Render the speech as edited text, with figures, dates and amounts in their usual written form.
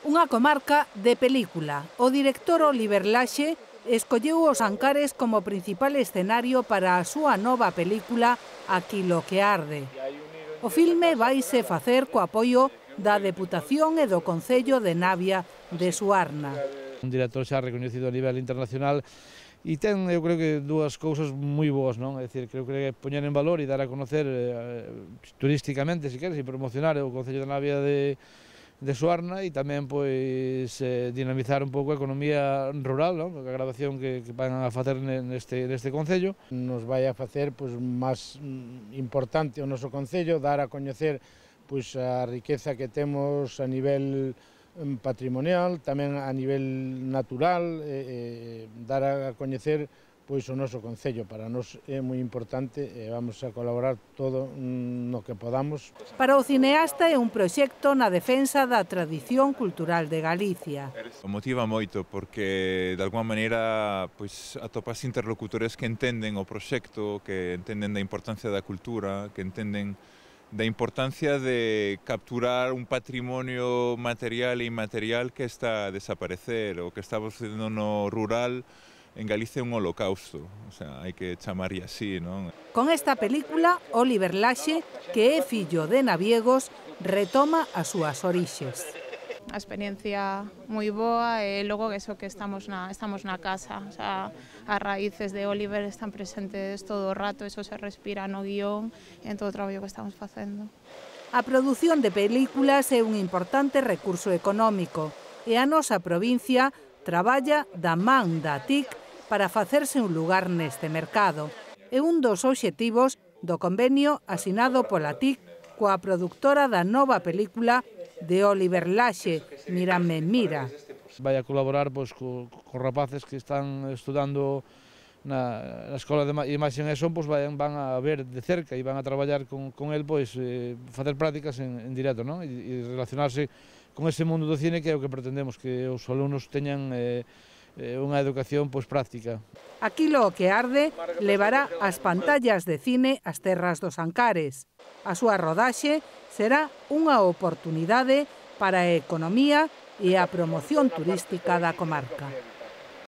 Unha comarca de película. O director Oliver Laxe escolleu os Ancares como principal escenario para a súa nova película Aquilo que arde. O filme vaise facer co apoio da Deputación e do Concello de Navia de Suarna. Un director xa recoñecido a nivel internacional e ten, eu creo que, dúas cousas moi boas, non? É dicir, creo que poñer en valor e dar a conocer turísticamente, se queres, e promocionar o Concello de Navia de Suarna e tamén pois dinamizar un pouco a economía rural, non? A grabación que van a facer neste concello. Nos vai a facer pois máis importante o noso concello, dar a coñecer pois a riqueza que temos a nivel patrimonial, tamén a nivel natural, dar a coñecer pois o noso concello. Para nós é moi importante e vamos a colaborar todo no que podamos. Para o cineasta é un proxecto na defensa da tradición cultural de Galicia. Motiva moito porque de alguma maneira pois atopas interlocutores que entenden o proxecto, que entenden da importancia da cultura, que entenden da importancia de capturar un patrimonio material e inmaterial que está a desaparecer, o que estamos facendo no rural. En Galicia é un holocausto, o sea, hai que chamarlle así, non? Con esta película, Oliver Laxe, que é fillo de naviegos, retoma as súas orixes. A experiencia moi boa e logo eso que estamos na casa, o sea, as raíces de Oliver están presentes todo o rato, eso se respira no guión e en todo o traballo que estamos facendo. A produción de películas é un importante recurso económico e a nosa provincia traballa da man da TIC para facerse un lugar neste mercado. É un dos obxectivos do convenio asinado pola TIC coa produtora da nova película de Oliver Laxe, Mírame, mira. Vai a colaborar pois, co rapaces que están estudando na Escola de Imaxe e Son, pois van a ver de cerca e van a traballar con el, pois facer prácticas en directo, non? E relacionarse con ese mundo do cine que é o que pretendemos, que os alumnos teñan unha educación pois práctica. Aquilo que arde levará as pantallas de cine ás terras dos Ancares. A súa rodaxe será unha oportunidade para a economía e a promoción turística da comarca.